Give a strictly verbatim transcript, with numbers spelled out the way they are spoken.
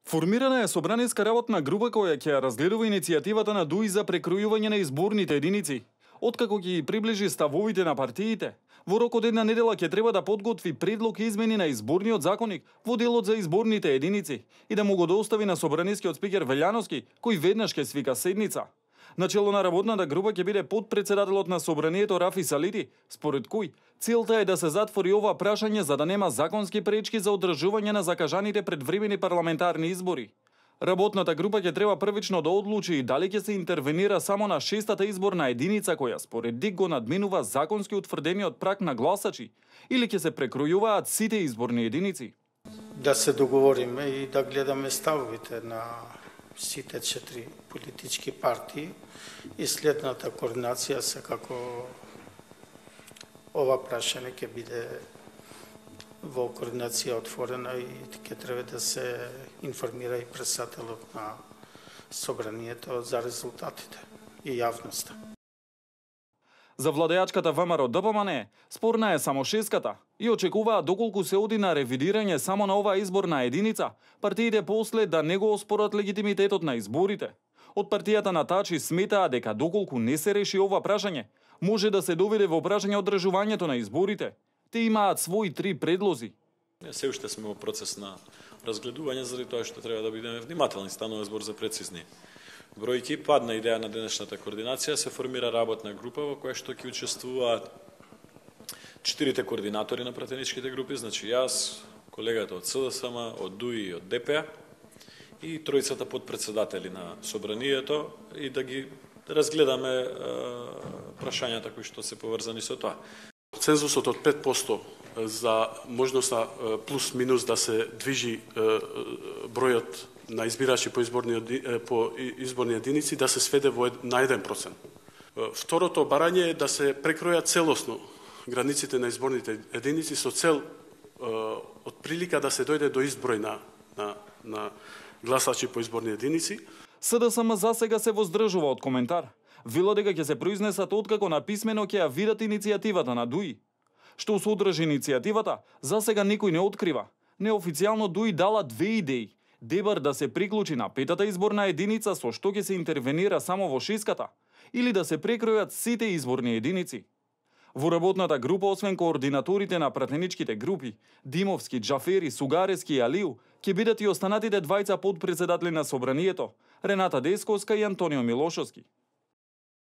Формирана е собраниска работна група која ќе разгледува иницијативата на ДУИ за прекројување на изборните единици. Откако ќе приближи ставовите на партиите, во рок од една недела ќе треба да подготви предлог измени на изборниот законник во делот за изборните единици и да му го достави на собранискиот спикер Велјановски, кој веднаш ќе свика седница. Начело на работната група ќе биде подпредседателот на собранието Рафи Салити, според кој целта е да се затвори ова прашање за да нема законски пречки за одржување на закажаните предвремени парламентарни избори. Работната група ќе треба првично да одлучи и дали ќе се интервенира само на шестата изборна единица која според ДИК го надминува законски утврдениот праг на гласачи или ќе се прекројуваат сите изборни единици. Да се договориме и да гледаме ставовите на сите четири политички партии и следната координација секако ова прашање ќе биде во координација отворена и ќе треба да се информира и председателот на собранието за резултатите и јавноста. За владеачката ВМРО ДПМН спорна е само шеската и очекуваат доколку се оди на ревидирање само на оваа изборна единица, партиите после да не го оспорат легитимитетот на изборите. Од партијата на Тачи сметаа дека доколку не се реши ова прашање, може да се доведе во прашање одржувањето на изборите. Те имаат своји три предлози. Се уште сме во процес на разгледување, заради тоа што треба да бидеме внимателни, станува збор за прецизни бројки. Падна идеја на денешната координација, се формира работна група во која што ќе учествуваат четирите координатори на пратеничките групи, значи јас, колегата од СДСМ, од ДУИ и од ДП и тројцата подпредседатели на собранието и да ги разгледаме е, прашањата кои што се поврзани со тоа. Цензусот од пет проценти за можноста плюс минус да се движи бројот на избирачи по изборни по изборни единици да се сведе во на еден процент. Второто барање е да се прекројат целосно границите на изборните единици со цел од прилика да се дојде до изброј на на, на гласачи по изборни единици. СДСМ за сега се воздржува од коментар. Вела дека ќе се произнесат откако на писмено ќе ја видат иницијативата на ДУИ. Што содржи иницијативата, за сега никој не открива. Неофицијално ДУИ дала две идеи. Дебар да се приклучи на петата изборна единица со што ќе се интервенира само во шеската, или да се прекројат сите изборни единици. Во работната група, освен координаторите на пратеничките групи, Димовски, Џафери, Сугарески и Алију, ќе бидат и останатите двајца подпредседатели на собранието, Рената Десковска и Антонио Милошовски.